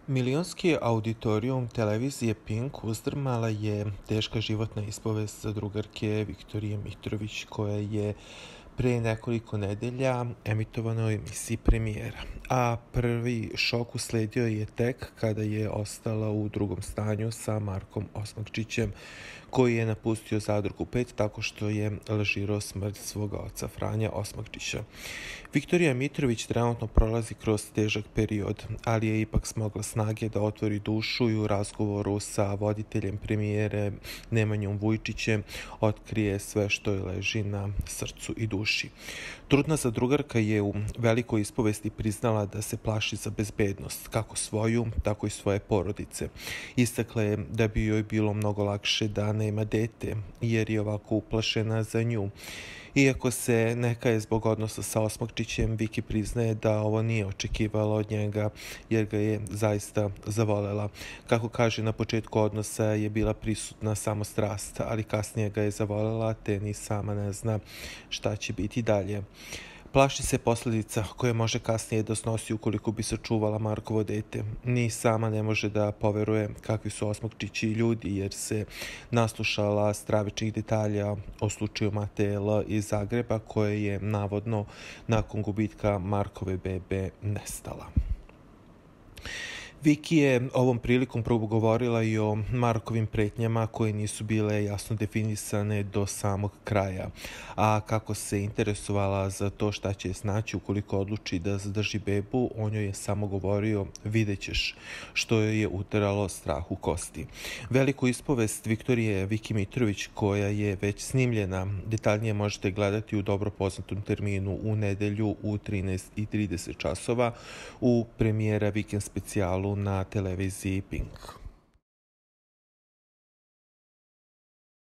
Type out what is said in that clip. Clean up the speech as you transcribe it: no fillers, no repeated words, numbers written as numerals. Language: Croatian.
Milionski auditorijum televizije Pink uzdrmala je teška životna ispovest drugarke Viktorije Mitrović, koja je pre nekoliko nedelja emitovana u emisiji Premijera. A prvi šok usledio je tek kada je ostala u drugom stanju sa Markom Osmakčićem, koji je napustio Zadrugu 5 tako što je lažirao smrt svoga oca Franja Osmakčića. Viktorija Mitrović trenutno prolazi kroz težak period, ali je ipak smogla snage da otvori dušu i u razgovoru sa voditeljem Premijere Nemanjom Vujčićem otkrije sve što joj leži na srcu i duši. Trudna zadrugarka je u velikoj ispovesti priznala da se plaši za bezbednost, kako svoju, tako i svoje porodice. Istakla je da bi joj bilo mnogo lakše da nema dete, jer je ovako uplašena za nju. Iako se neka je zbog odnosa sa Osmakčićem, Viki priznaje da ovo nije očekivala od njega, jer ga je zaista zavolela. Kako kaže, na početku odnosa je bila prisutna samo strast, ali kasnije ga je zavolela, te ni sama ne zna šta će biti dalje. Plaši se posljedica koje može kasnije da snosi ukoliko bi sačuvala Markovo dete. Ni sama ne može da poveruje kakvi su Osmakčići ljudi, jer se naslušala stravičnih detalja o slučaju Mateje L. iz Zagreba, koje je navodno nakon gubitka Markove bebe nestala. Viki je ovom prilikom progovorila i o Markovim pretnjama koje nisu bile jasno definisane do samog kraja, a kako se interesovala za to šta će je snaći ukoliko odluči da zadrži bebu, on joj je samo govorio vidjet ćeš, što joj je uteralo strah u kosti. Veliku ispovest Viktorije Viki Mitrović, koja je već snimljena, detaljnije možete gledati u dobro poznatom terminu u nedelju u 13:30 časova u Premijera vikend specijalu na televiziji Pink.